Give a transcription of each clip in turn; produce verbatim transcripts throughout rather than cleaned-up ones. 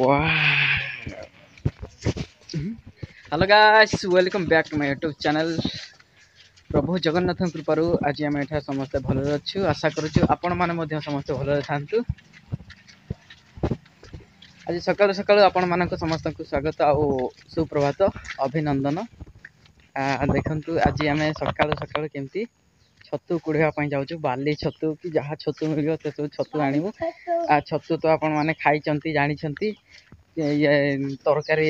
Hello guys, welcome back to my YouTube channel. ପ୍ରଭୁ ଜଗନ୍ନାଥଙ୍କ କୃପାରୁ ଆଜି ଆମେ ଏଠାରେ ସମସ୍ତେ ଭଲରେ ଅଛୁ। ଆଶା କରୁଛୁ ଆପଣମାନେ ମଧ୍ୟ ସମସ୍ତେ ଭଲରେ ଥାନ୍ତୁ। ଆଜି ସକାଳୁ ସକାଳୁ ଆପଣମାନଙ୍କୁ ସମସ୍ତଙ୍କୁ ସ୍ୱାଗତ ଆଉ ସୁପ୍ରଭାତ, ଅଭିନନ୍ଦନ। ଦେଖନ୍ତୁ, ଆଜି ଆମେ ସକାଳୁ ସକାଳୁ କେମିତି ଛତୁ କୁଢ଼ିବା ପାଇଁ ଯାଉଛୁ। ବାଲି ଛତୁ କି ଯାହା ଛତୁ ମିଳିବ, ସେସବୁ ଛତୁ ଆଣିବୁ। ଆଉ ଛତୁ ତ ଆପଣମାନେ ଖାଇଛନ୍ତି, ଜାଣିଛନ୍ତି, ଇଏ ତରକାରୀ,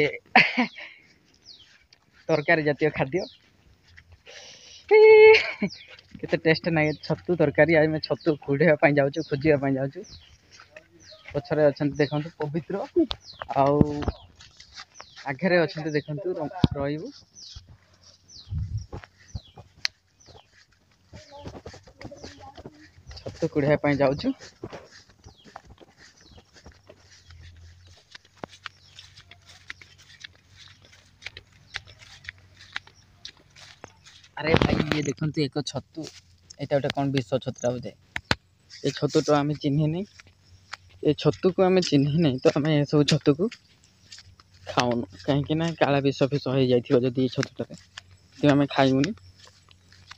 ତରକାରୀ ଜାତୀୟ ଖାଦ୍ୟ କେତେ ଟେଷ୍ଟ ନାହିଁ ଛତୁ ତରକାରୀ। ଆମେ ଛତୁ କୁଢ଼ିବା ପାଇଁ ଯାଉଛୁ, ଖୋଜିବା ପାଇଁ ଯାଉଛୁ। ପଛରେ ଅଛନ୍ତି ଦେଖନ୍ତୁ ପବିତ୍ର, ଆଉ ଆଗରେ ଅଛନ୍ତି ଦେଖନ୍ତୁ ରହିବୁ। ଛତୁ କୁଢ଼ିବା ପାଇଁ ଯାଉଛୁ। ଆରେ ଭାଇ, ଇଏ ଦେଖନ୍ତୁ ଏକ ଛତୁ। ଏଇଟା ଗୋଟେ କ'ଣ ବିଷ ଛତୁଟା ବୋଧେ। ଏ ଛତୁଟା ଆମେ ଚିହ୍ନିନି, ଏ ଛତୁକୁ ଆମେ ଚିହ୍ନିନି, ତ ଆମେ ଏସବୁ ଛତୁକୁ ଖାଉନୁ, କାହିଁକି ନା କାଳେ ବିଷ ଫିଷ ହେଇଯାଇଥିବ ଯଦି ଏ ଛତୁଟାରେ, ସେଥିପାଇଁ ଆମେ ଖାଇବୁନି।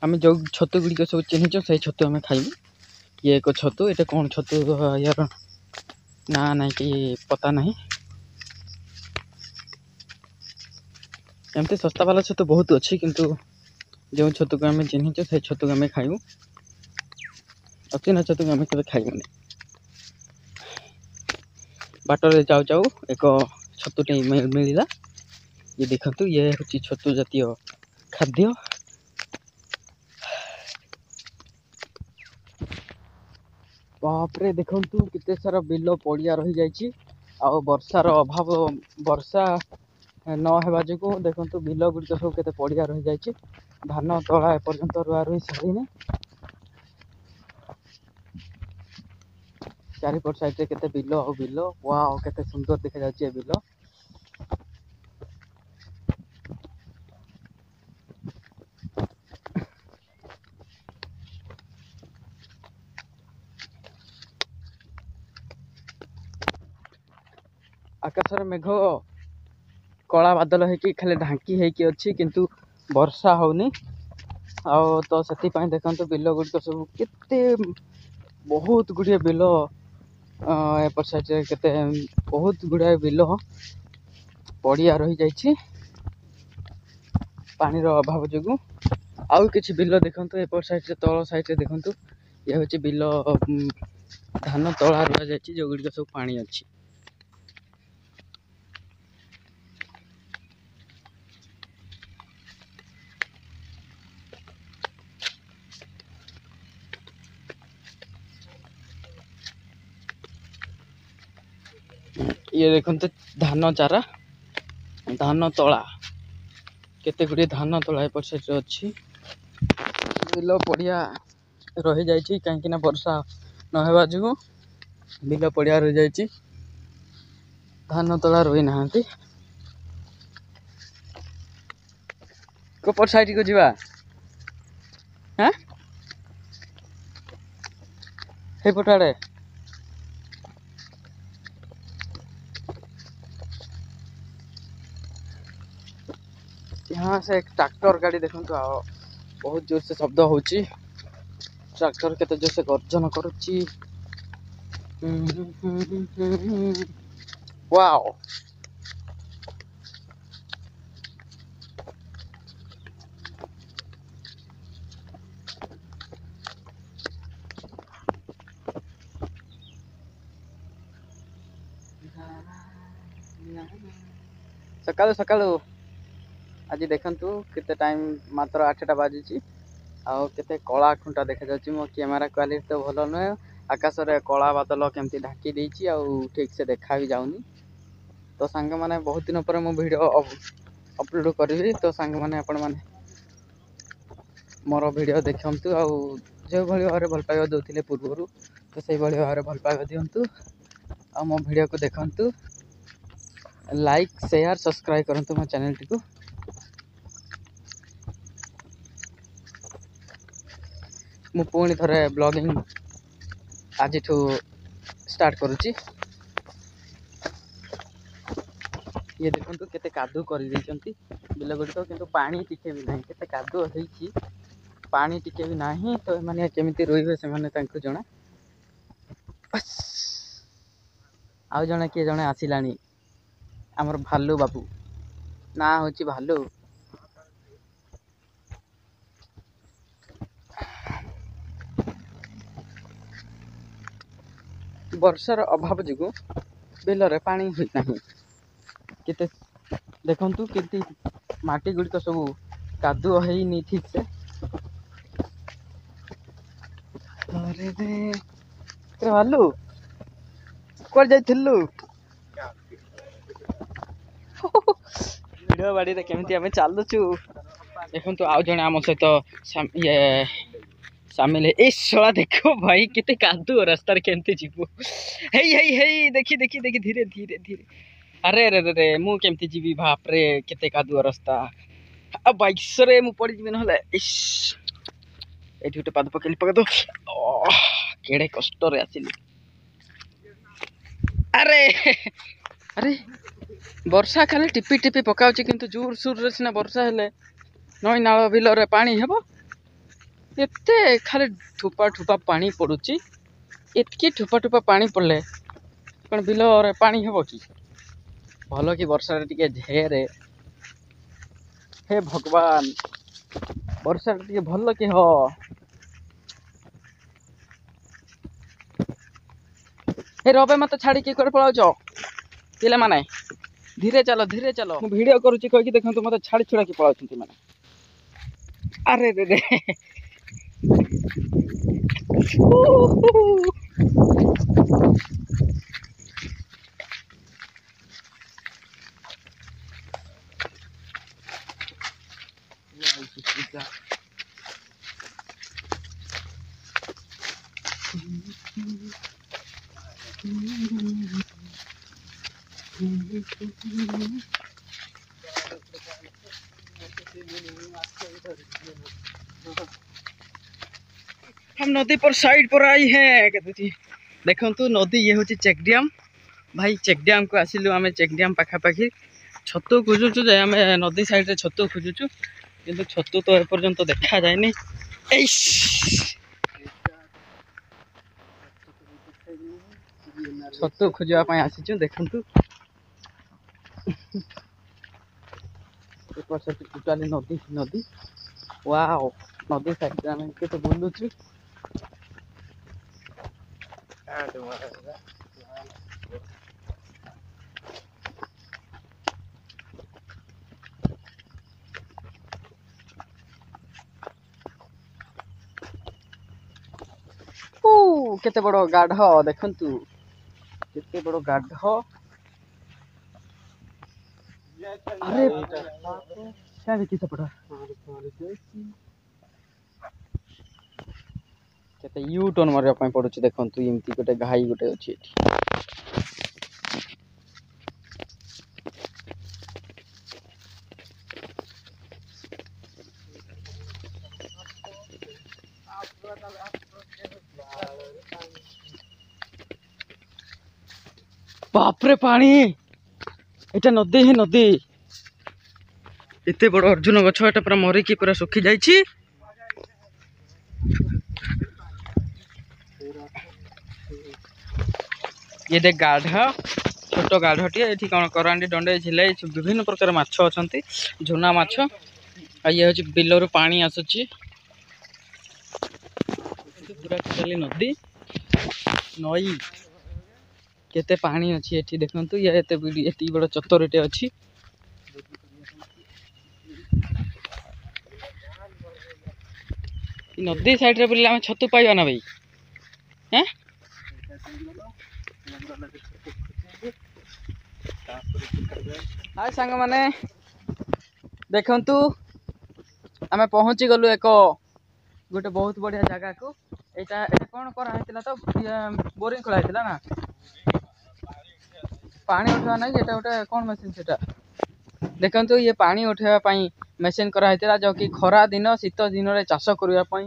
ଆମେ ଯେଉଁ ଛତୁ ଗୁଡ଼ିକ ସବୁ ଚିହ୍ନିଛୁ, ସେଇ ଛତୁ ଆମେ ଖାଇବୁ। ଇଏ ଏକ ଛତୁ, ଏଇଟା କ'ଣ ଛତୁ, ୟାର ନାଁ ନାହିଁ କି ପତା ନାହିଁ। ଏମିତି ଶସ୍ତା ବାଲା ଛତୁ ବହୁତ ଅଛି, କିନ୍ତୁ ଯେଉଁ ଛତୁକୁ ଆମେ ଚିହ୍ନିଛୁ ସେଇ ଛତୁକୁ ଆମେ ଖାଇବୁ। ଅଚିହ୍ନା ଛତୁକୁ ଆମେ କେବେ ଖାଇବୁନି। ବାଟରେ ଯାଉ ଯାଉ ଏକ ଛତୁଟେ ମିଳିଲା। ଇଏ ଦେଖନ୍ତୁ, ଇଏ ହେଉଛି ଛତୁ ଜାତୀୟ ଖାଦ୍ୟ। ବାପରେ, ଦେଖନ୍ତୁ କେତେ ସାରା ବିଲ ପଡ଼ିଆ ରହିଯାଇଛି। ଆଉ ବର୍ଷାର ଅଭାବ, ବର୍ଷା ନ ହେବା ଯୋଗୁଁ ଦେଖନ୍ତୁ ବିଲ ଗୁଡ଼ିକ ସବୁ କେତେ ପଡ଼ିଆ ରହିଯାଇଛି। ଧାନ ତଳା ଏପର୍ଯ୍ୟନ୍ତ ରୁଆ ରୁଇ ସରିନି। ଚାରିପଟ ସାଇଡ଼ରେ କେତେ ବିଲ ଆଉ ବିଲ। ୱାଓ, କେତେ ସୁନ୍ଦର ଦେଖାଯାଉଛି ଏ ବିଲ। ଆକାଶରେ ମେଘ କଳା ବାଦଲ ହେଇକି ଖାଲି ଢାଙ୍କି ହେଇକି ଅଛି, କିନ୍ତୁ ବର୍ଷା ହଉନି। ଆଉ ତ ସେଥିପାଇଁ ଦେଖନ୍ତୁ ବିଲ ଗୁଡ଼ିକ ସବୁ କେତେ ବହୁତ ଗୁଡ଼ିଏ ବିଲ ଏପଟ ସାଇଡ଼ରେ, କେତେ ବହୁତ ଗୁଡ଼ାଏ ବିଲ ପଡ଼ିଆ ରହିଯାଇଛି ପାଣିର ଅଭାବ ଯୋଗୁଁ। ଆଉ କିଛି ବିଲ ଦେଖନ୍ତୁ ଏପଟ ସାଇଡ଼ରେ, ତଳ ସାଇଡ଼ରେ ଦେଖନ୍ତୁ, ଇଏ ହେଉଛି ବିଲ, ଧାନ ତଳା ରୁଆଯାଇଛି, ଯେଉଁଗୁଡ଼ିକ ସବୁ ପାଣି ଅଛି। ଇଏ ଦେଖନ୍ତୁ ଧାନ ଚାରା, ଧାନ ତଳା, କେତେ ଗୁଡ଼ିଏ ଧାନ ତଳା ଏପଟ ସାଇଡ଼ରେ ଅଛି। ବିଲ ପଡ଼ିଆ ରହିଯାଇଛି, କାହିଁକିନା ବର୍ଷା ନହେବା ଯୋଗୁଁ ବିଲ ପଡ଼ିଆ ରହିଯାଇଛି, ଧାନ ତଳା ରୋଇନାହାନ୍ତି। କୋପଟ ସାଇଡ଼କୁ ଯିବା। ହାଁ, ସେଇପଟ ଆଡ଼େ। यहाँ से एक ट्रैक्टर ଗାଡ଼ି ଦେଖନ୍ତୁ, ଆଉ ବହୁତ ଜୋରସେ ଶବ୍ଦ ହେଉଛି। ଟ୍ରାକ୍ଟର କେତେ ଜୋରସେ ଗର୍ଜନ କରୁଛି। ୱାଓ, ସକାଳୁ ସକାଳୁ ଆଜି ଦେଖନ୍ତୁ କେତେ ଟାଇମ୍, ମାତ୍ର ଆଠଟା ବାଜିଛି, ଆଉ କେତେ କଳା ଖୁଣ୍ଟା ଦେଖାଯାଉଛି। ମୋ କ୍ୟାମେରା କ୍ୱାଲିଟି ତ ଭଲ ନୁହେଁ। ଆକାଶରେ କଳା ବାଦଲ କେମିତି ଢାଙ୍କି ଦେଇଛି, ଆଉ ଠିକ୍ ସେ ଦେଖା ବି ଯାଉନି। ତ ସାଙ୍ଗମାନେ, ବହୁତ ଦିନ ପରେ ମୁଁ ଭିଡ଼ିଓ ଅପଲୋଡ଼ କରିବି। ତ ସାଙ୍ଗମାନେ, ଆପଣମାନେ ମୋର ଭିଡ଼ିଓ ଦେଖନ୍ତୁ, ଆଉ ଯେଉଁଭଳି ଭାବରେ ଭଲ ପାଇବା ଦେଉଥିଲେ ପୂର୍ବରୁ, ତ ସେଇଭଳି ଭାବରେ ଭଲ ପାଇବା ଦିଅନ୍ତୁ ଆଉ ମୋ ଭିଡ଼ିଓକୁ ଦେଖନ୍ତୁ। ଲାଇକ୍, ସେୟାର, ସବସ୍କ୍ରାଇବ୍ କରନ୍ତୁ ମୋ ଚ୍ୟାନେଲଟିକୁ। ମୁଁ ପୁଣି ଥରେ ବ୍ଲଗିଂ ଆଜିଠୁ ଷ୍ଟାର୍ଟ କରୁଛି। ଇଏ ଦେଖନ୍ତୁ କେତେ କାଦୁଅ କରିଦେଇଛନ୍ତି ବିଲ ଗୁଡ଼ିକ, କିନ୍ତୁ ପାଣି ଟିକେ ବି ନାହିଁ। କେତେ କାଦୁଅ ହେଇଛି, ପାଣି ଟିକେ ବି ନାହିଁ। ତ ଏମାନେ କେମିତି ରୋଇବେ ସେମାନେ ତାଙ୍କୁ ଜଣା। ଆଉ ଜଣେ କିଏ ଜଣେ ଆସିଲାଣି, ଆମର ଭାଲୁ ବାବୁ, ନାଁ ହେଉଛି ଭାଲୁ। ବର୍ଷାର ଅଭାବ ଯୋଗୁଁ ବିଲରେ ପାଣି ହୋଇନାହିଁ। କେତେ ଦେଖନ୍ତୁ କେମିତି ମାଟି ଗୁଡ଼ିକ ସବୁ କାଦୁଅ ହେଇନି ଠିକ୍ ସେ। ଆରେ ଭାଲୁ କୁଆଡ଼େ ଯାଇଥିଲୁ? ଭିଡ଼ ବାଡ଼ିରେ କେମିତି ଆମେ ଚାଲୁଛୁ ଦେଖନ୍ତୁ। ଆଉ ଜଣେ ଆମ ସହିତ ଇଏ ସାମିଲ। ଏଇ ଶଳା ଦେଖ ଭାଇ, କେତେ କାଦୁଅ ରାସ୍ତାରେ କେମିତି ଯିବୁ? ହେଇ ହେଇ ହେଇ, ଦେଖି ଦେଖି ଦେଖି, ଧୀରେ ଧୀରେ ଧୀରେ। ଆରେ ରେ ରେ, ମୁଁ କେମିତି ଯିବି? ବାପରେ, କେତେ କାଦୁଅ ରାସ୍ତା। ଆଉ ବାଇକ୍ସରେ ମୁଁ ପଡ଼ିଯିବି ନହେଲେ। ଇସ୍, ଏଇଠି ଗୋଟେ ପାଦ ପକେଇଲି, ପକେଇ କେଡ଼େ କଷ୍ଟରେ ଆସିଲି। ଆରେ ଆରେ, ବର୍ଷା ଖାଲି ଟିପି ଟିପି ପକାଉଛି, କିନ୍ତୁ ଜୋର ସୋରରେ ସିନା ବର୍ଷା ହେଲେ ନଈ ନାଳ ବିଲରେ ପାଣି ହେବ। ଏତେ ଖାଲି ଠୋପା ଠୋପା ପାଣି ପଡ଼ୁଛି। ଏତିକି ଠୋପା ଠୋପା ପାଣି ପଡ଼ିଲେ କ'ଣ ବିଲରେ ପାଣି ହେବ କି? ଭଲ କି ବର୍ଷାରେ ଟିକେ ଝେରେ। ହେ ଭଗବାନ, ବର୍ଷାରେ ଟିକେ ଭଲ କି ହ। ହେ ରବେ, ମତେ ଛାଡ଼ିକି କୁଆଡ଼େ ପଳାଉଛ? ପିଲାମାନେ ଧୀରେ ଚାଲ, ଧୀରେ ଚାଲ। ମୁଁ ଭିଡ଼ିଓ କରୁଛି କହିକି ଦେଖନ୍ତୁ ମତେ ଛାଡ଼ି ଛୁଡ଼ାକି ପଳାଉଛନ୍ତି ମାନେ। ଆରେ ରେ ରେ, हम नदी पर साइड पर आई हैं। ଦେଖନ୍ତୁ ନଦୀ, ଇଏ ହେଉଛି ଚେକ୍ ଡ୍ୟାମ୍ ଭାଇ। ଚେକ୍ ଡ୍ୟାମ୍କୁ ଆସିଲୁ ଆମେ। ଚେକ୍ ଡ୍ୟାମ୍ ପାଖାପାଖି ଛତୁ ଖୋଜୁଛୁ ଯେ, ଆମେ ନଦୀ ସାଇଡ଼୍ରେ ଛତୁ ଖୋଜୁଛୁ, କିନ୍ତୁ ଛତୁ ତ ଏପର୍ଯ୍ୟନ୍ତ ଦେଖାଯାଏନି। ଏଇ ଛତୁ ଖୋଜିବା ପାଇଁ ଆସିଛୁ। ଦେଖନ୍ତୁ ଏପଟ ସେଠି ଟୋଟାଲି ନଦୀ ନଦୀ। ୱାଓ, ନଦୀ ସାଇଡ଼୍ରେ ଆମେ କେତେ ବୁଲୁଛୁ। କେତେ ବଡ଼ ଗାଢ଼ ଦେଖନ୍ତୁ, କେତେ ବଡ଼ ଗାଢ଼। ଆରେ ଦେଖି ସେପଟ କେତେ you turn ମାରିବା ପାଇଁ ପଡୁଛି। ଦେଖନ୍ତୁ ଏମିତି ଗୋଟେ ଘାଇ ଗୋଟେ ଅଛି ଏଠି। ବାପରେ, ପାଣି! ଏଇଟା ନଦୀ ହିଁ ନଦୀ। ଏତେ ବଡ଼ ଅର୍ଜୁନ ଗଛ, ଏଟା ପୁରା ମରିକି ପୁରା ଶୁଖି ଯାଇଛି। ଇଏ ଦେଖ ଗାଢ଼, ଛୋଟ ଗାଢ଼ଟିଏ। ଏଠି କ'ଣ କରାଣ୍ଡି, ଦଣ୍ଡେଇ, ଝିଲେଇ ବିଭିନ୍ନ ପ୍ରକାର ମାଛ ଅଛନ୍ତି, ଝୁନା ମାଛ। ଆଉ ଇଏ ହେଉଛି ବିଲରୁ ପାଣି ଆସୁଛି ପୁରା ଟୋଟାଲି ନଦୀ ନଈ। କେତେ ପାଣି ଅଛି ଏଠି ଦେଖନ୍ତୁ। ଇଏ ଏତେ ଏତିକି ବଡ଼ ଚତରଟେ ଅଛି। ନଦୀ ସାଇଡରେ ବୁଲିଲେ ଆମେ ଛତୁ ପାଇବା ନା ଭାଇ? ହେଁ, ହାଏ ସାଙ୍ଗମାନେ, ଦେଖନ୍ତୁ ଆମେ ପହଞ୍ଚି ଗଲୁ ଏକ ଗୋଟେ ବହୁତ ବଢ଼ିଆ ଜାଗାକୁ। ଏଇଟା ଏଇଟା କ'ଣ କରାହେଇଥିଲା ତ? ବୋରିଂ ଖୋଳା ହେଇଥିଲା ନା ପାଣି ଉଠେଇବା ନାହିଁ? ଏଇଟା ଗୋଟେ କ'ଣ ମେସିନ୍ ସେଟା? ଦେଖନ୍ତୁ, ଇଏ ପାଣି ଉଠେଇବା ପାଇଁ ମେସିନ୍ କରାହେଇଥିଲା, ଯୋଉକି ଖରା ଦିନ ଶୀତ ଦିନରେ ଚାଷ କରିବା ପାଇଁ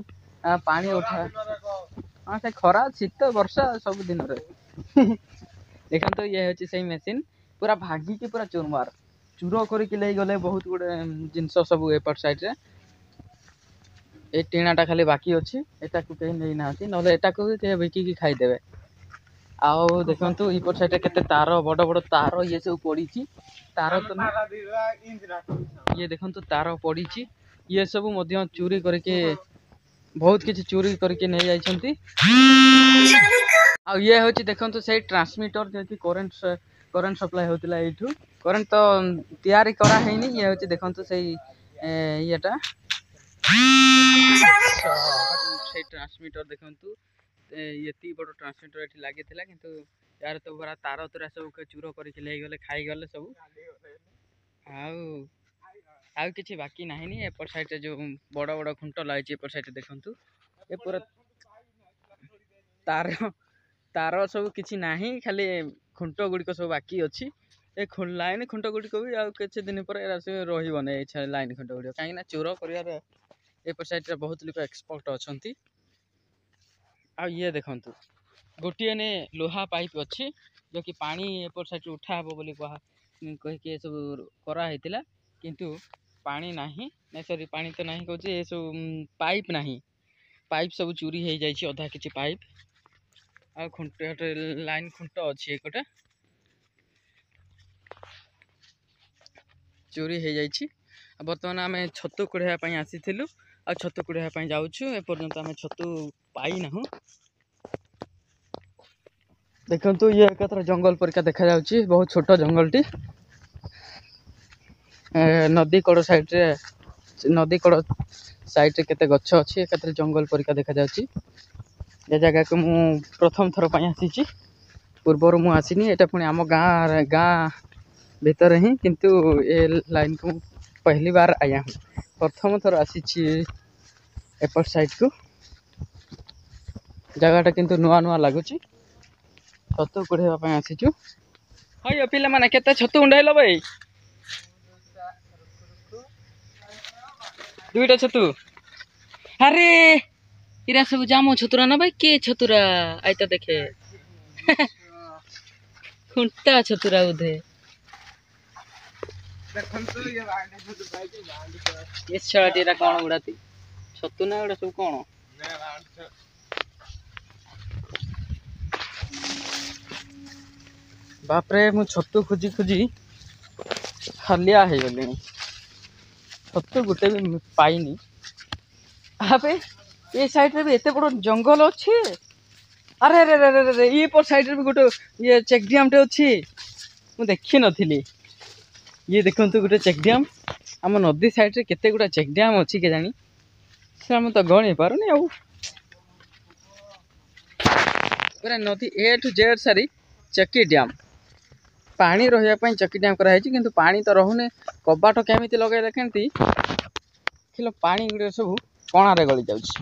ପାଣି ଉଠା। ହଁ, ସେ ଖରା ଶୀତ ବର୍ଷା ସବୁ ଦିନରେ। ଦେଖନ୍ତୁ, ଇଏ ହେଉଛି ସେଇ ମେସିନ୍, ପୁରା ଭାଙ୍ଗିକି ପୁରା ଚୁରମାର। ଚୁର କରିକି ନେଇଗଲେ ବହୁତ ଗୁଡ଼େ ଜିନିଷ ସବୁ ଏପଟ ସାଇଡ଼୍ରେ। ଏ ଟିଣାଟା ଖାଲି ବାକି ଅଛି, ଏଟାକୁ କେହି ନେଇନାହାନ୍ତି, ନହେଲେ ଏଟାକୁ ବି କେହି ବିକିକି ଖାଇଦେବେ। ଆଉ ଦେଖନ୍ତୁ ଏପଟ ସାଇଡ଼୍ରେ କେତେ ତାର, ବଡ଼ ବଡ଼ ତାର ଇଏ ସବୁ ପଡ଼ିଛି। ତାର ତ ଇଏ ଦେଖନ୍ତୁ ତାର ପଡ଼ିଛି। ଇଏ ସବୁ ମଧ୍ୟ ଚୋରି କରିକି ବହୁତ କିଛି ଚୋରି କରିକି ନେଇଯାଇଛନ୍ତି। ଆଉ ଇଏ ହେଉଛି ଦେଖନ୍ତୁ ସେଇ ଟ୍ରାନ୍ସମିଟର, ଯିଏକି କରେଣ୍ଟ କରେଣ୍ଟ ସପ୍ଲାଏ ହେଉଥିଲା ଏଇଠୁ। କରେଣ୍ଟ ତ ତିଆରି କରାହେଇନି। ଇଏ ହେଉଛି ଦେଖନ୍ତୁ ସେଇ ଇଏଟା, ସେଇ ଟ୍ରାନ୍ସମିଟର ଦେଖନ୍ତୁ। ଏତିକି ବଡ଼ ଟ୍ରାନ୍ସମିଟର ଏଠି ଲାଗିଥିଲା, କିନ୍ତୁ ୟାର ତ ପୁରା ତାର ତୁରା ସବୁ ଚୁର କରିକି ନେଇଗଲେ, ଖାଇଗଲେ ସବୁ। ଆଉ ଆଉ କିଛି ବାକି ନାହିଁ। ଏପଟ ସାଇଡ଼୍ରେ ଯେଉଁ ବଡ଼ ବଡ଼ ଖୁଣ୍ଟ ଲାଗିଛି ଏପଟ ସାଇଡ଼୍ରେ ଦେଖନ୍ତୁ, ଏ ପୁରା ତାର ତାର ସବୁ କିଛି ନାହିଁ, ଖାଲି ଖୁଣ୍ଟ ଗୁଡ଼ିକ ସବୁ ବାକି ଅଛି। ଏ ଲାଇନ୍ ଖୁଣ୍ଟ ଗୁଡ଼ିକ ବି ଆଉ କିଛି ଦିନ ପରେ ଏରା ସବୁ ରହିବନି, ଏ ଲାଇନ୍ ଖୁଣ୍ଟ ଗୁଡ଼ିକ, କାହିଁକିନା ଚୋର କରିବାରେ ଏପଟ ସାଇଡ଼୍ରେ ବହୁତ ଲୋକ ଏକ୍ସପର୍ଟ ଅଛନ୍ତି। ଆଉ ଇଏ ଦେଖନ୍ତୁ ଗୋଟିଏ ନେ ଲୁହା ପାଇପ୍ ଅଛି, ଯେଉଁକି ପାଣି ଏପଟ ସାଇଡ଼୍ରୁ ଉଠା ହେବ ବୋଲି କୁହା କହିକି ଏସବୁ କରାହେଇଥିଲା, କିନ୍ତୁ ପାଣି ନାହିଁ। ନାଇଁ ସରି, ପାଣି ତ ନାହିଁ କହୁଛି, ଏସବୁ ପାଇପ୍ ନାହିଁ। ପାଇପ୍ ସବୁ ଚୋରି ହେଇଯାଇଛି, ଅଧା କିଛି ପାଇପ୍। ଆଉ ଖୁଣ୍ଟ ଲାଇନ୍ ଖୁଣ୍ଟ ଅଛି ଏକଟେ ଚୋରି ହେଇଯାଇଛି। ଆଉ ବର୍ତ୍ତମାନ ଆମେ ଛତୁ କୁଢ଼େଇବା ପାଇଁ ଆସିଥିଲୁ, ଆଉ ଛତୁ କୁଢ଼େଇବା ପାଇଁ ଯାଉଛୁ। ଏପର୍ଯ୍ୟନ୍ତ ଆମେ ଛତୁ ପାଇନାହୁଁ। ଦେଖନ୍ତୁ ଇଏ ଏକାଥରେ ଜଙ୍ଗଲ ପରିକା ଦେଖାଯାଉଛି, ବହୁତ ଛୋଟ ଜଙ୍ଗଲଟି। ନଦୀ କଡ଼ ସାଇଡ଼୍ରେ, ନଦୀ କଡ଼ ସାଇଡ଼୍ରେ କେତେ ଗଛ ଅଛି, ଏକାଥରେ ଜଙ୍ଗଲ ପରିକା ଦେଖାଯାଉଛି। ଏ ଜାଗାକୁ ମୁଁ ପ୍ରଥମ ଥର ପାଇଁ ଆସିଛି, ପୂର୍ବରୁ ମୁଁ ଆସିନି। ଏଇଟା ପୁଣି ଆମ ଗାଁ ଗାଁ ଭିତରେ ହିଁ, କିନ୍ତୁ ଏ ଲାଇନ୍କୁ ମୁଁ ପହଲି ବାର ଆୟା ହୁଁ, ପ୍ରଥମ ଥର ଆସିଛି ଏପଟ ସାଇଡ଼୍କୁ। ଜାଗାଟା କିନ୍ତୁ ନୂଆ ନୂଆ ଲାଗୁଛି। ଛତୁ କୁଢ଼େଇବା ପାଇଁ ଆସିଛୁ। ହଇ ପିଲାମାନେ, କେତେ ଛତୁ ଉଣ୍ଡାଇଲ ଭାଇ? ଦୁଇଟା ଛତୁ। ଆରେ ଏରା ସବୁ ଜାମ ଛତୁରା ନା ଭାଇ? କିଏ ଛତୁରା ଆଇତା ଦେଖେ, ଖୁଣ୍ଟା ଛତୁରା ବୋଧେ। ଏ ଛୁଆଟି ଏରା କଣ ଗୁଡାତି ଛତୁ ନା ଏଗୁଡ଼ା ସବୁ କଣ? ବାପରେ, ମୁଁ ଛତୁ ଖୋଜି ଖୋଜି ହାଲିଆ ହେଇଗଲିଣି, ଛତୁ ଗୋଟେ ବି ପାଇନି। ଆବେ ଏ ସାଇଡ଼୍ରେ ବି ଏତେ ବଡ଼ ଜଙ୍ଗଲ ଅଛି। ଆରେ ଆରେ ଆରେ ଆରେ, ଇଏ ପଟ ସାଇଡ଼୍ରେ ବି ଗୋଟେ ଇଏ ଚେକ୍ ଡ୍ୟାମ୍ଟେ ଅଛି, ମୁଁ ଦେଖିନଥିଲି। ଇଏ ଦେଖନ୍ତୁ ଗୋଟେ ଚେକ୍ ଡ୍ୟାମ୍। ଆମ ନଦୀ ସାଇଡ଼୍ରେ କେତେ ଗୁଡ଼ା ଚେକ୍ ଡ୍ୟାମ୍ ଅଛି କେଜାଣି, ସେ ଆମେ ତ ଗଣି ପାରୁନି। ଆଉ ପୁରା ନଦୀ ଏ ଠୁ ଜେଡ୍ ସାରି ଚକି ଡ୍ୟାମ୍। ପାଣି ରହିବା ପାଇଁ ଚକି ଡ୍ୟାମ୍ କରାହେଇଛି, କିନ୍ତୁ ପାଣି ତ ରହୁନି। କବାଟ କେମିତି ଲଗେଇଲେ କେମିତି ଦେଖିଲ, ପାଣି ଗୁଡ଼ିକ ସବୁ କଣାରେ ଗଳି ଯାଉଛି।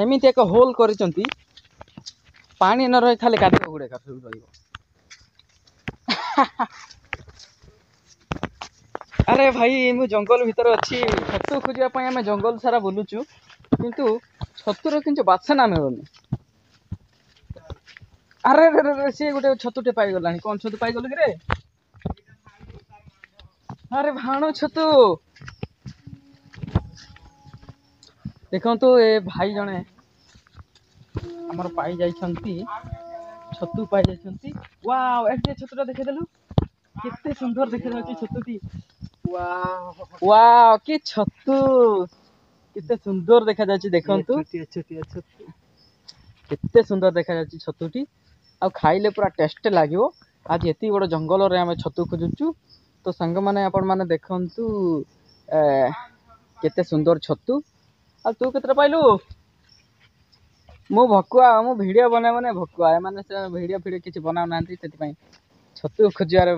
ଏମିତି ଏକ ହୋଲ୍ କରିଛନ୍ତି, ପାଣି ନ ରହି ଖାଲି କାଦୁଅ ଗୁଡ଼ାକ ସବୁ ରହିବ। ଆରେ ଭାଇ, ମୁଁ ଜଙ୍ଗଲ ଭିତରେ ଅଛି। ଛତୁ ଖୋଜିବା ପାଇଁ ଆମେ ଜଙ୍ଗଲ ସାରା ବୁଲୁଛୁ, କିନ୍ତୁ ଛତୁର କିନ୍ତୁ ବାସନା ମିଳୁନି। ଆରେ ରେ, ସିଏ ଗୋଟେ ଛତୁଟେ ପାଇଗଲାଣି। କଣ ଛତୁ ପାଇଗଲୁ କିରେ? ଆରେ ଭାଣୁ ଛତୁ। ଦେଖନ୍ତୁ ଏ ଭାଇ ଜଣେ ଆମର ପାଇଯାଇଛନ୍ତି, ଛତୁ ପାଇଯାଇଛନ୍ତି। ୱାଓ, ଏଠି ଛତୁଟା ଦେଖେଇଦେଲୁ, କେତେ ସୁନ୍ଦର ଦେଖାଯାଉଛି ଛତୁଟି। ୱାଓ, କି ଛତୁ, କେତେ ସୁନ୍ଦର ଦେଖାଯାଉଛି। ଦେଖନ୍ତୁ କେତେ ସୁନ୍ଦର ଦେଖାଯାଉଛି ଛତୁଟି, ଆଉ ଖାଇଲେ ପୁରା ଟେଷ୍ଟ ଲାଗିବ। ଆଜି ଏତିକି ବଡ଼ ଜଙ୍ଗଲରେ ଆମେ ଛତୁ ଖୋଜୁଛୁ। ତ ସାଙ୍ଗମାନେ, ଆପଣମାନେ ଦେଖନ୍ତୁ କେତେ ସୁନ୍ଦର ଛତୁ। ଆଉ ତୁ କେତେଟା ପାଇଲୁ? ମୁଁ ଭକୁଆ, ମୁଁ ଭିଡ଼ିଓ ବନାଏ ମାନେ ଭକୁଆ। ଏମାନେ ସେ ଭିଡ଼ିଓ ଫିଡ଼ିଓ କିଛି ବନାଉନାହାନ୍ତି, ସେଥିପାଇଁ ଛତୁ ଖୋଜିବାରେ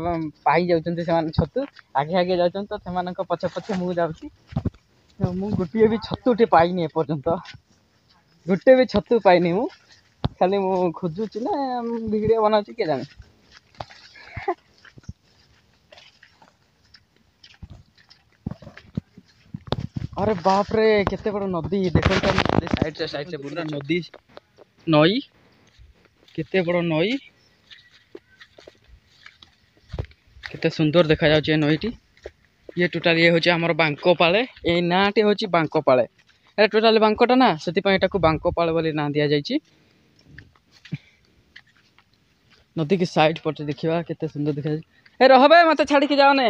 ପାଇଯାଉଛନ୍ତି ସେମାନେ ଛତୁ, ଆଗେ ଆଗେ ଯାଉଛନ୍ତି, ତ ସେମାନଙ୍କ ପଛେ ପଛେ ମୁଁ ଯାଉଛି। ମୁଁ ଗୋଟିଏ ବି ଛତୁଟେ ପାଇନି ଏପର୍ଯ୍ୟନ୍ତ, ଗୋଟେ ବି ଛତୁ ପାଇନି ମୁଁ। ଖାଲି ମୁଁ ଖୋଜୁଛି ନା ଭିଡ଼ିଓ ବନାଉଛି କିଏ ଜାଣେ। ଆରେ ବାପରେ, କେତେ ବଡ଼ ନଦୀ ଦେଖନ୍ତୁ। ଆମେ ସାଇଡ଼ରେ ସାଇଡ଼ରେ ପୁରା ନଦୀ, ନଈ, କେତେ ବଡ଼ ନଈ। କେତେ ସୁନ୍ଦର ଦେଖାଯାଉଛି ଏ ନଈଟି। ଇଏ ଟୋଟାଲି ଇଏ ହେଉଛି ଆମର ବାଙ୍କପାଳେ। ଏଇ ନାଁଟି ହେଉଛି ବାଙ୍କପାଳେ। ଏଟା ଟୋଟାଲି ବାଙ୍କଟା ନା, ସେଥିପାଇଁ ଏଟାକୁ ବାଙ୍କପାଳ ବୋଲି ନାଁ ଦିଆଯାଇଛି। ନଦୀକି ସାଇଡ୍ ପଟେ ଦେଖିବା କେତେ ସୁନ୍ଦର ଦେଖାଯାଉଛି। ଏ ରହବେ, ମତେ ଛାଡ଼ିକି ଯାଅନେ।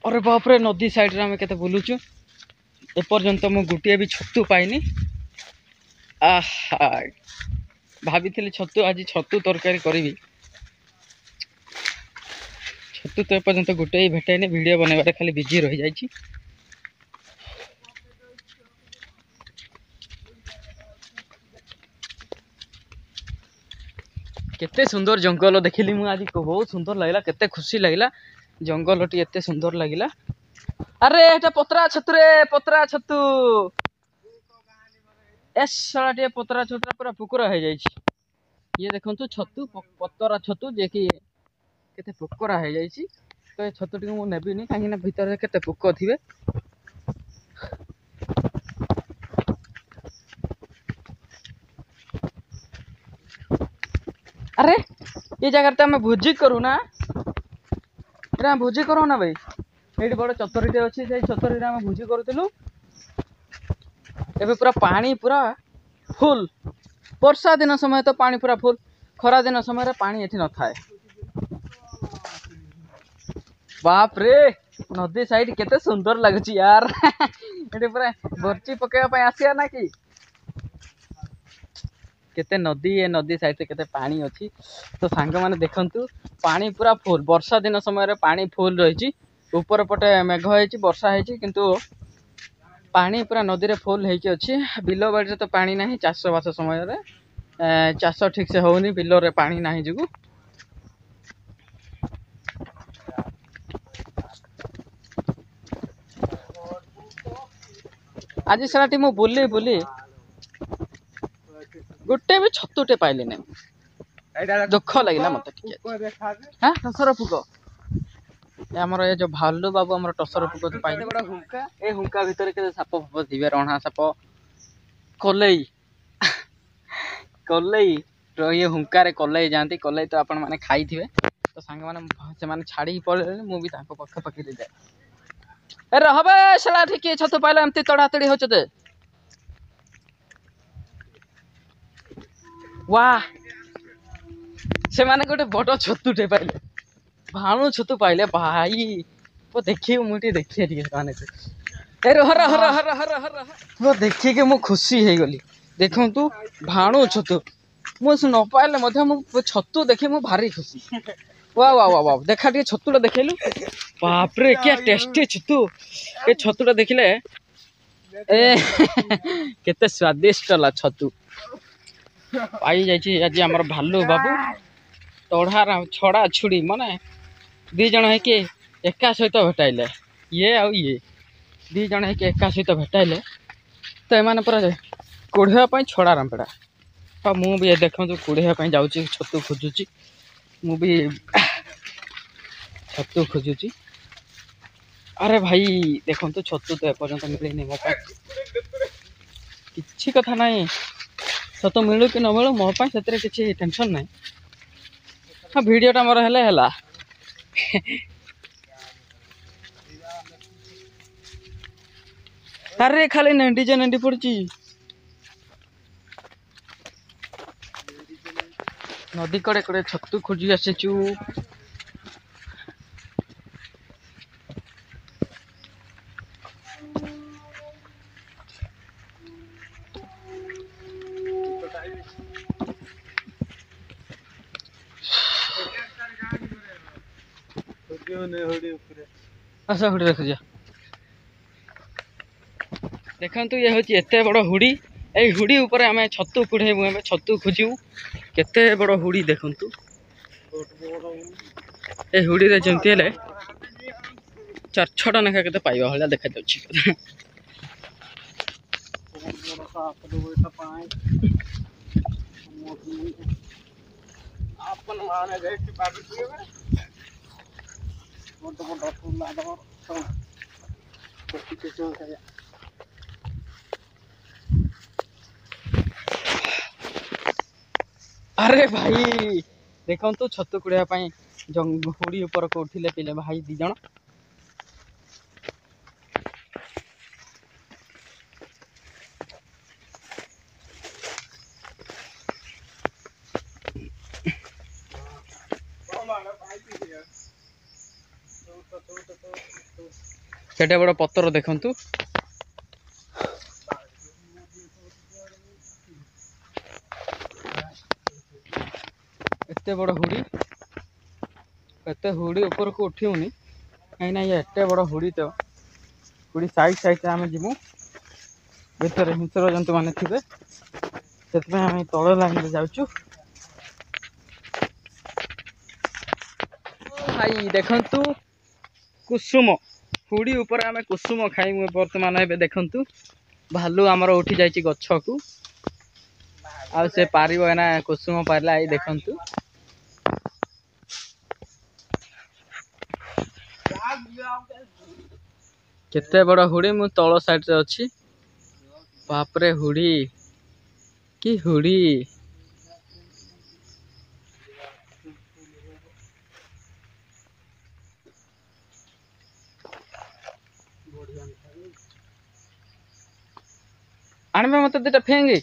ଅରେ ବାପରେ, ନଦୀ ସାଇଡ୍ରେ ଆମେ କେତେ ବୁଲୁଛୁ, ଏପର୍ଯ୍ୟନ୍ତ ମୁଁ ଗୋଟିଏ ବି ଛତୁ ପାଇନି। ଆହା, ଭାବିଥିଲି ଛତୁ ଆଜି ଛତୁ ତରକାରୀ କରିବି। ଛତୁ ତ ଏପର୍ଯ୍ୟନ୍ତ ଗୋଟେ ବି ଭେଟାଇନି। ଭିଡ଼ିଓ ବନେଇବାରେ ଖାଲି ବିଜି ରହିଯାଇଛି। କେତେ ସୁନ୍ଦର ଜଙ୍ଗଲ ଦେଖିଲି ମୁଁ ଆଜି, ବହୁତ ସୁନ୍ଦର ଲାଗିଲା, କେତେ ଖୁସି ଲାଗିଲା, ଜଙ୍ଗଲଟି ଏତେ ସୁନ୍ଦର ଲାଗିଲା। ଆରେ ଏଟା ପତରା ଛତୁରେ, ପତରା ଛତୁ। ଏ ଶଳା ଟିକେ ପତରା ଛତୁଟା ପୁରା ପୋକରା ହେଇଯାଇଛି। ଇଏ ଦେଖନ୍ତୁ ଛତୁ, ପତରା ଛତୁ, ଯିଏକି କେତେ ପୋକରା ହେଇଯାଇଛି। ତ ଏ ଛତୁଟିକୁ ମୁଁ ନେବିନି, କାହିଁକିନା ଭିତରେ କେତେ ପୋକ ଥିବେ। ଆରେ ଏ ଜାଗାରେ ତ ଆମେ ଭୋଜି କରୁନା, ଏଟା ଆମେ ଭୋଜି କରୁନା ଭାଇ। ଏଇଠି ବଡ଼ ଚତରୀଟେ ଅଛି, ସେଇ ଚତରୀରେ ଆମେ ଭୋଜି କରୁଥିଲୁ। ଏବେ ପୁରା ପାଣି ପୁରା ଫୁଲ। ବର୍ଷା ଦିନ ସମୟ ତ ପାଣି ପୁରା ଫୁଲ, ଖରା ଦିନ ସମୟରେ ପାଣି ଏଠି ନଥାଏ। ବାପରେ, ନଦୀ ସାଇଡ କେତେ ସୁନ୍ଦର ଲାଗୁଛି ୟାର। ଏଠି ପୁରା ବର୍ଚି ପକେଇବା ପାଇଁ ଆସିବା ନା କି? କେତେ ନଦୀ, ଏ ନଦୀ ସାଇଡରେ କେତେ ପାଣି ଅଛି। ତ ସାଙ୍ଗମାନେ ଦେଖନ୍ତୁ, ପାଣି ପୁରା ଫୁଲ। ବର୍ଷା ଦିନ ସମୟରେ ପାଣି ଫୁଲ ରହିଛି। ଉପର ପଟେ ମେଘ ହେଇଛି, ବର୍ଷା ହେଇଛି, କିନ୍ତୁ ପାଣି ପୁରା ନଦୀରେ ଫୁଲ ହେଇକି ଅଛି। ବିଲ ବାଡ଼ିରେ ତ ପାଣି ନାହିଁ। ଚାଷବାସ ସମୟରେ ଚାଷ ଠିକସେ ହଉନି ବିଲରେ ପାଣି ନାହିଁ ଯୋଗୁଁ। ଆଜି ସେଠି ମୁଁ ବୁଲି ବୁଲି ଗୋଟେ ବି ଛତୁଟେ ପାଇଲି ନାହିଁ, ଦୁଃଖ ଲାଗିଲା ମତେ ଟିକେ। ହଁ, ଟସର ପୋକ ଆମର ଏ ଯୋଉ ଭାଲୁ ବାବୁ ଆମର ଟସର ପୋକ ପାଇଲେ। ହୁଙ୍କା, ଏ ହୁଙ୍କା ଭିତରେ କେତେ ସାପ ଫାପ ଥିବେ, ରଣା ସାପ, କଲେଇ। କଲେଇ ଇଏ ହୁଙ୍କାରେ କଲେଇ ଯାଆନ୍ତି। କଲେଇ ତ ଆପଣ ମାନେ ଖାଇଥିବେ। ତ ସାଙ୍ଗମାନେ, ସେମାନେ ଛାଡ଼ିକି ପଳେଇଲେଣି, ମୁଁ ବି ତାଙ୍କ ପାଖ ପାଖରେ ଯାଏ। ଏ ରହବେ ସେଟା କିଏ ଛତୁ ପାଇଲା, ଏମିତି ତଡ଼ାତଡ଼ି ହଉଛ ଯେ। ୱା, ସେମାନେ ଗୋଟେ ବଡ଼ ଛତୁଟେ ପାଇଲେ, ଭାଣୁ ଛତୁ ପାଇଲେ ଭାଇ। ଦେଖିବି ମୁଁ ଟିକେ, ଦେଖିବା ଟିକେ ସେମାନେ। ଏ ରହ ରହ ରହ ରହ ରହ ରହ, ମୁଁ ଦେଖିକି ମୁଁ ଖୁସି ହେଇଗଲି। ଦେଖନ୍ତୁ ଭାଣୁ ଛତୁ, ମୁଁ ନ ପାଇଲେ ମଧ୍ୟ ମୁଁ ଛତୁ ଦେଖି ମୁଁ ଭାରି ଖୁସି। ୱା ୱା ୱା ୱା, ଦେଖା ଟିକେ ଛତୁଟା ଦେଖେଇଲୁ। ବାପରେ, କିଆ ଟେଷ୍ଟି ଛତୁ! ଏ ଛତୁଟା ଦେଖିଲେ ଏ କେତେ ସ୍ୱାଦିଷ୍ଟ ହେଲା। ଛତୁ ପାଇଯାଇଛି ଆଜି ଆମର ଭାଲୁ ବାବୁ। ତଢ଼ା ଛଡ଼ା ଛୁଡ଼ି ମାନେ ଦି ଜଣ ହେଇକି ଏକା ସହିତ ଭେଟାଇଲେ। ଇଏ ଆଉ ଇଏ ଦି ଜଣ ହେଇକି ଏକା ସହିତ ଭେଟାଇଲେ। ତ ଏମାନେ ପୁରା କୁଢ଼େଇବା ପାଇଁ ଛଡ଼ା ରାମ୍ପେଡ଼ା। ଆଉ ମୁଁ ବି ଦେଖନ୍ତୁ କୁଢ଼େଇବା ପାଇଁ ଯାଉଛି, ଛତୁ ଖୋଜୁଛି। ମୁଁ ବି ଛତୁ ଖୋଜୁଛି। ଆରେ ଭାଇ ଦେଖନ୍ତୁ, ଛତୁ ତ ଏପର୍ଯ୍ୟନ୍ତ ମିଳିନି ମୋ ପାଇଁ। କିଛି କଥା ନାହିଁ, ଛତୁ ମିଳୁ କି ନ ମିଳୁ ମୋ ପାଇଁ ସେଥିରେ କିଛି ଟେନସନ୍ ନାହିଁ। ହଁ, ଭିଡ଼ିଓଟା ମୋର ହେଲେ ହେଲା। ଆରେ ଖାଲି ନେଣ୍ଡି ଯେ ନେଣ୍ଡି ପଡୁଛି। ନଦୀ କଡ଼େ କଡ଼େ ଛତୁ ଖୋଜି ଆସିଛୁ। ଆସ ହୁଡ଼ି ରଖୁଛ। ଦେଖନ୍ତୁ, ଇଏ ହେଉଛି ଏତେ ବଡ଼ ହୁଡ଼ି। ଏଇ ହୁଡ଼ି ଉପରେ ଆମେ ଛତୁ କୁଢ଼େଇବୁ, ଆମେ ଛତୁ ଖୋଜିବୁ। କେତେ ବଡ଼ ହୁଡ଼ି ଦେଖନ୍ତୁ। ଏ ହୁଡ଼ିରେ ଯେମିତି ହେଲେ ଚାରି ଛଅଟା ଲେଖା କେତେ ପାଇବା ଭଳିଆ ଦେଖାଯାଉଛି। ଆରେ ଭାଇ ଦେଖନ୍ତୁ, ଛତୁ କୁଡ଼ିବା ପାଇଁ ହୁଡ଼ି ଉପରକୁ ଉଠିଲେ ପିଲେ ଭାଇ ଦି ଜଣ। କେତେ ବଡ଼ ପଥର ଦେଖନ୍ତୁ। ଏତେ ବଡ଼ ହୁଡ଼ି, ଏତେ ହୁଡ଼ି ଉପରକୁ ଉଠିବୁନି, କାହିଁକିନା ଇଏ ଏତେ ବଡ଼ ହୁଡ଼ି। ତ ହୁଡ଼ି ସାଇଡ୍ ସାଇଡ଼୍ରେ ଆମେ ଯିବୁ, ଭିତରେ ହିଂସ୍ର ଜନ୍ତୁମାନେ ଥିବେ, ସେଥିପାଇଁ ଆମେ ତଳ ଲାଇନ୍ରେ ଯାଉଛୁ। ଭାଇ ଦେଖନ୍ତୁ, କୁସୁମ ହୁଡ଼ି ଉପରେ ଆମେ କୁସୁମ ଖାଇମୁ ବର୍ତ୍ତମାନ ଏବେ। ଦେଖନ୍ତୁ, ଭାଲୁ ଆମର ଉଠି ଯାଇଛି ଗଛକୁ, ଆଉ ସେ ପାରିବ ଏନା କୁସୁମ ପାରିଲା। ଏଇ ଦେଖନ୍ତୁ କେତେ ବଡ଼ ହୁଡ଼ି। ମୁଁ ତଳ ସାଇଡ଼ରେ ଅଛି। ବାପରେ, ହୁଡ଼ି କି ହୁଡ଼ି! ଆଣିବେ ମତେ ଦିଟା ଫେଙ୍ଗି।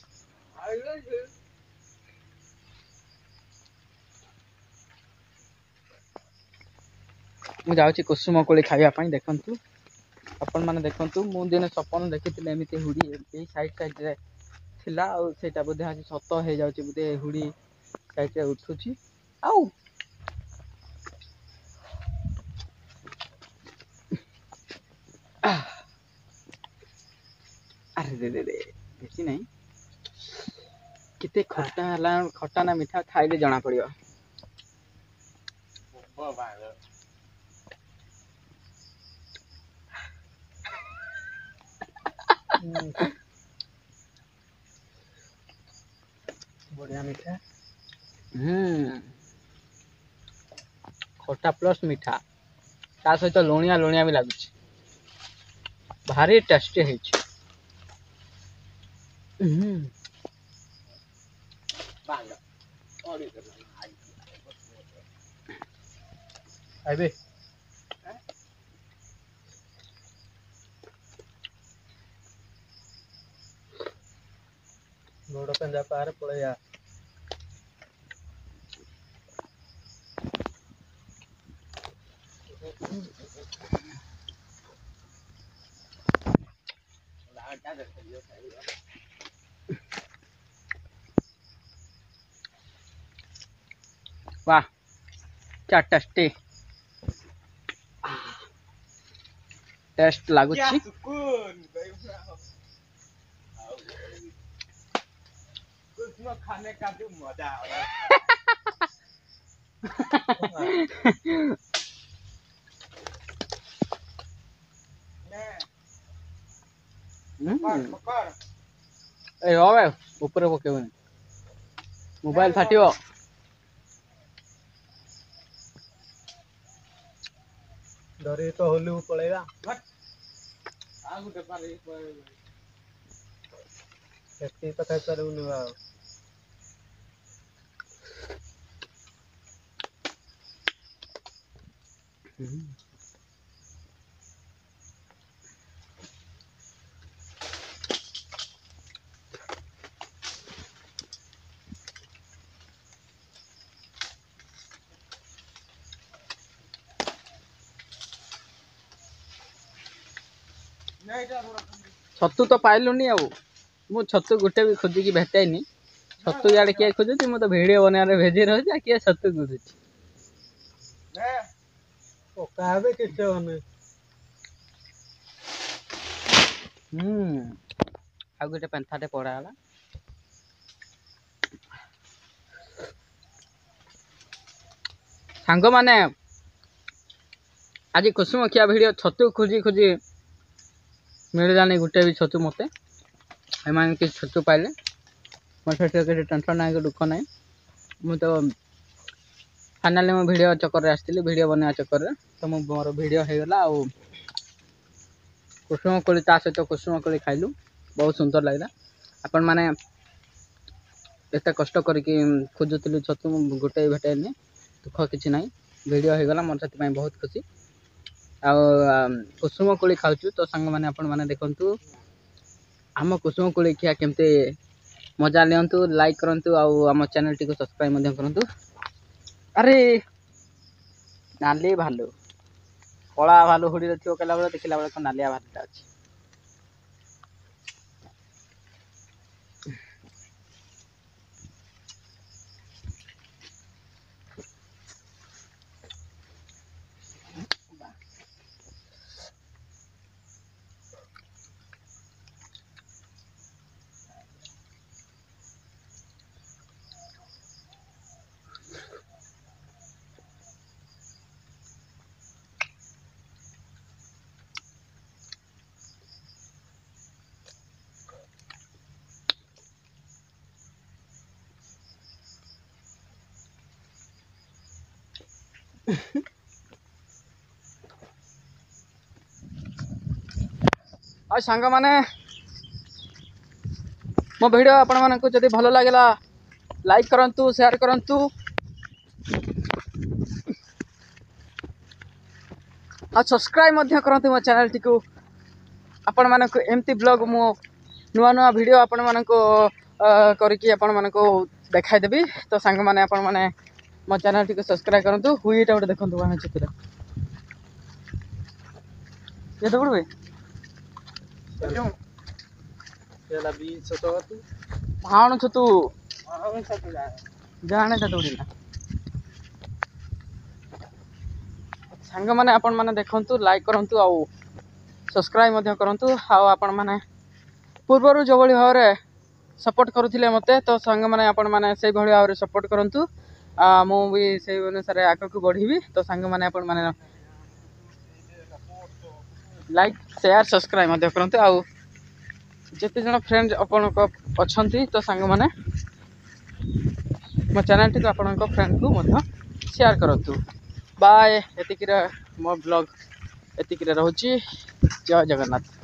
ମୁଁ ଯାଉଛି କୁସୁମ କୋଳି ଖାଇବା ପାଇଁ। ଦେଖନ୍ତୁ ଆପଣମାନେ, ଦେଖନ୍ତୁ, ମୁଁ ଦିନେ ସପନ ଦେଖିଥିଲି ଏମିତି ହୁଡ଼ି ଏଇ ସାଇଡ୍ ସାଇଡ଼୍ରେ ଥିଲା, ଆଉ ସେଇଟା ବୋଧେ ଆଜି ସତ ହେଇଯାଉଛି ବୋଧେ। ହୁଡ଼ି ସାଇଡ଼୍ରେ ଉଠୁଛି। ଆଉ ଆରେ ରେ ରେ ରେ, ବେଶୀ ନାହିଁ। କେତେ ଖଟା ହେଲା, ଖଟା ନା ମିଠା ଖାଇଲେ ଜଣା ପଡ଼ିବ। ବଢିଆ ମିଠା। ହୁଁ, ଖଟା ପ୍ଲସ୍ ମିଠା, ତା ସହିତ ଲୁଣିଆ ଲୁଣିଆ ବି ଲାଗୁଛି। ଭାରି ଟେଷ୍ଟି ହେଇଛି। ହୁଁ, ଖାଇବେ। ଗୋଡ଼ ପେଞ୍ଜା ପାରେ ପଳେଇବା। वाह, क्या टेस्टी ଟେଷ୍ଟ ଲାଗୁଛି। खाने का जो मजा। ଏ ରହ, ଉପରେ ପକେଇବନି, ମୋବାଇଲ ଫାଟିବ। ଧରିକି ତ ହୋଲିକୁ ପଳେଇବା। ସେତିକି ତ ଖାଇପାରିବୁନି ଆଉ। ଛତୁ ତ ପାଇଲୁନି ଆଉ। ମୁଁ ଛତୁ ଗୋଟେ ବି ଖୋଜିକି ଭେଟାଇନି। ଛତୁ ଇଆଡ଼େ କିଏ ଖୋଜୁଛି? ମୁଁ ତ ଭିଡ଼ିଓ ବନେଇବାରେ ଭେଜି ରହୁଛି, ଆଉ କିଏ ଛତୁ ଖୋଜୁଛି? ପକା ହେବେ, କିଛି ହବନି। ହୁଁ, ଆଉ ଗୋଟେ ପେନ୍ଥାଟେ ପଡ଼ା ହେଲା। ସାଙ୍ଗମାନେ, ଆଜି କୁସୁମ ଖିଆ ଭିଡ଼ିଓ। ଛତୁ ଖୋଜି ଖୋଜି ମିଳିଲାନି ଗୋଟେ ବି ଛତୁ ମୋତେ। ଏମାନେ କିଛି ଛତୁ ପାଇଲେ, ମୋ ସେଥିରେ କିଛି ଟେନସନ୍ ନାହିଁ କି ଦୁଃଖ ନାହିଁ। ମୁଁ ତ ଫାଇନାଲି ମୁଁ ଭିଡ଼ିଓ ଚକରରେ ଆସିଥିଲି, ଭିଡ଼ିଓ ବନେଇବା ଚକରରେ ତ ମୁଁ ମୋର ଭିଡ଼ିଓ ହେଇଗଲା। ଆଉ କୁସୁମ କୋଳି, ତା ସହିତ କୁସୁମ କୋଳି ଖାଇଲୁ, ବହୁତ ସୁନ୍ଦର ଲାଗିଲା। ଆପଣମାନେ ଏତେ କଷ୍ଟ କରିକି ଖୋଜୁଥିଲି ଛତୁ, ମୁଁ ଗୋଟେ ବି ଭେଟାଇନି। ଦୁଃଖ କିଛି ନାହିଁ, ଭିଡ଼ିଓ ହେଇଗଲା, ମୋର ସେଥିପାଇଁ ବହୁତ ଖୁସି। ଆଉ କୁସୁମ କୋଳି ଖାଉଛୁ। ତ ସାଙ୍ଗମାନେ, ଆପଣମାନେ ଦେଖନ୍ତୁ ଆମ କୁସୁମ କୋଳି ଖିଆ କେମିତି ମଜା ନିଅନ୍ତୁ, ଲାଇକ୍ କରନ୍ତୁ ଆଉ ଆମ ଚ୍ୟାନେଲଟିକୁ ସବସ୍କ୍ରାଇବ୍ ମଧ୍ୟ କରନ୍ତୁ। ଆରେ ନାଲି ଭାଲୁ, କଳା ଭାଲୁ ହୁଡ଼ିରେ ଥିବ କହିଲା ବେଳେ, ଦେଖିଲା ବେଳକୁ ନାଲିଆ ଭାଲୁଟା ଅଛି। ଆଉ ସାଙ୍ଗମାନେ, ମୋ ଭିଡ଼ିଓ ଆପଣମାନଙ୍କୁ ଯଦି ଭଲ ଲାଗିଲା, ଲାଇକ୍ କରନ୍ତୁ, ସେୟାର କରନ୍ତୁ ଆଉ ସବସ୍କ୍ରାଇବ୍ ମଧ୍ୟ କରନ୍ତୁ ମୋ ଚ୍ୟାନେଲଟିକୁ। ଆପଣମାନଙ୍କୁ ଏମିତି ବ୍ଲଗ୍, ମୁଁ ନୂଆ ନୂଆ ଭିଡ଼ିଓ ଆପଣମାନଙ୍କୁ କରିକି ଆପଣମାନଙ୍କୁ ଦେଖାଇଦେବି। ତ ସାଙ୍ଗମାନେ, ଆପଣମାନେ ମୋ ଚ୍ୟାନେଲଟିକୁ ସବସ୍କ୍ରାଇବ୍ କରନ୍ତୁ। ହୁଇ, ଏଇଟା ଗୋଟେ ଦେଖନ୍ତୁ, ବାଣ ଛତୁଟା କେତେ ପଡ଼ିବେ? ଭାଣ ଛତୁ ଜାଣେ ତ ଦୌଡ଼ିଲା। ସାଙ୍ଗମାନେ, ଆପଣମାନେ ଦେଖନ୍ତୁ, ଲାଇକ୍ କରନ୍ତୁ ଆଉ ସବସ୍କ୍ରାଇବ୍ ମଧ୍ୟ କରନ୍ତୁ। ଆଉ ଆପଣମାନେ ପୂର୍ବରୁ ଯେଉଁଭଳି ଭାବରେ ସପୋର୍ଟ କରୁଥିଲେ ମୋତେ, ତ ସାଙ୍ଗମାନେ, ଆପଣମାନେ ସେଇଭଳି ଭାବରେ ସପୋର୍ଟ କରନ୍ତୁ, ମୁଁ ବି ସେଇ ଅନୁସାରେ ଆଗକୁ ବଢ଼ିବି। ତ ସାଙ୍ଗମାନେ, ଆପଣମାନେ ଲାଇକ୍, ସେୟାର, ସବସ୍କ୍ରାଇବ୍ ମଧ୍ୟ କରନ୍ତୁ ଆଉ ଯେତେ ଜଣ ଫ୍ରେଣ୍ଡ ଆପଣଙ୍କ ଅଛନ୍ତି, ତ ସାଙ୍ଗମାନେ, ମୋ ଚ୍ୟାନେଲଟିକୁ ଆପଣଙ୍କ ଫ୍ରେଣ୍ଡକୁ ମଧ୍ୟ ସେୟାର କରନ୍ତୁ। ବାଏ, ଏତିକିରେ ମୋ ବ୍ଲଗ୍ ଏତିକିରେ ରହୁଛି। ଜୟ ଜଗନ୍ନାଥ।